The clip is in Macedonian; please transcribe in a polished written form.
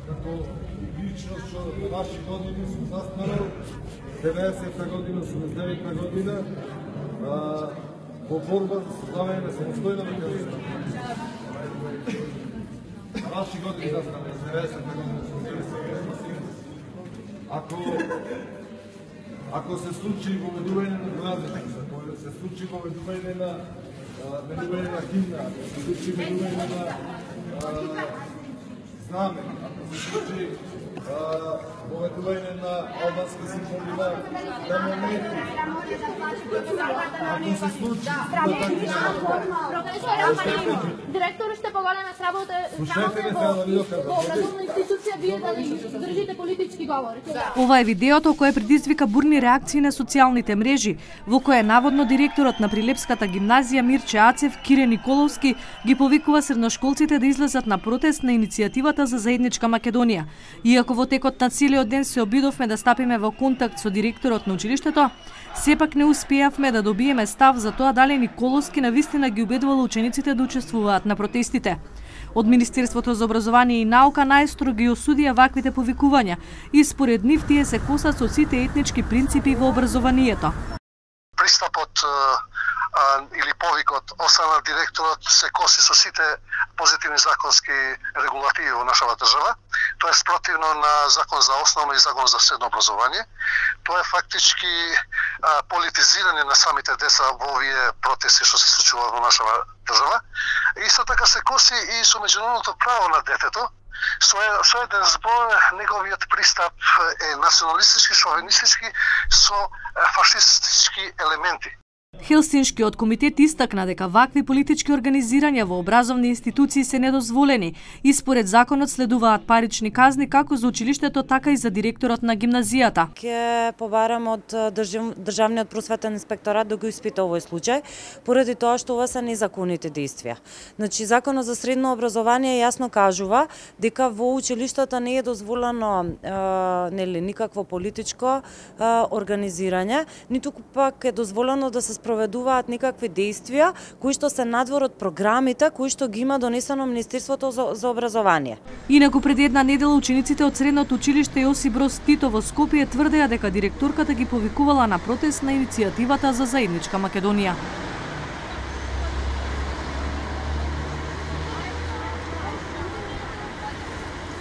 како личност што на ваши години сум застанал, 90-та година, 89-та година, во борба за создавање на самостојна Македонија. На ваши години застанал, 90-та година, 89-та. Ако се случи воведување на гразите, ако се случи воведување на химна, ако се случи воведување на знаме, ако се случи поведување на албански символи на монети, ако се случи директор ще поголеме сработа во образовна институција, вие дали држите политички говори. Ова е видеото кое предизвика бурни реакции на социјалните мрежи, во кое наводно директорот на Прилепската гимназија Мирче Ацев, Кире Николовски, ги повикува средношколците да излезат на протест на иницијативата за заедничка Македонија. Иако во текот на целиот ден се обидовме да стапиме во контакт со директорот на училиштето, сепак не успеавме да добиеме став за тоа дали Николовски навистина ги убедувал учениците да учествуваат на протестите. Од Министерството за образование и наука најстро ги осудија ваквите повикувања и според нив тие се косат со сите етнички принципи во образованието. Пристапот или повикот осана директорот се коси со сите позитивни законски регулативи во нашава држава. Тоа е спротивно на закон за основно и закон за средно образование. Тоа е фактички политизирање на самите деца во овие протести што се случуваат во нашава држава. Исто така се коси и со меѓународното право на детето. Со еден збор, неговиот пристап е националистички, шовинистички со фашистички елементи. Хелсиншкиот комитет истакна дека вакви политички организирања во образовни институции се недозволени и според законот следуваат парични казни како за училиштето, така и за директорот на гимназијата. Ќе побарам од Државниот просветен инспекторат да го испита овој случај, поради тоа што ова се незаконити действија. Значи, законот за средно образование јасно кажува дека во училиштата не е дозволено никакво политичко организирање, ниту пак е дозволено да се спроведуваат никакви действија кои што се надвор од програмите кои што ги има донесено Министерството за образование. Инаку пред една недела учениците од средното училиште Јосип Броз Тито во Скопје тврдеа дека директорката ги повикувала на протест на иницијативата за заедничка Македонија.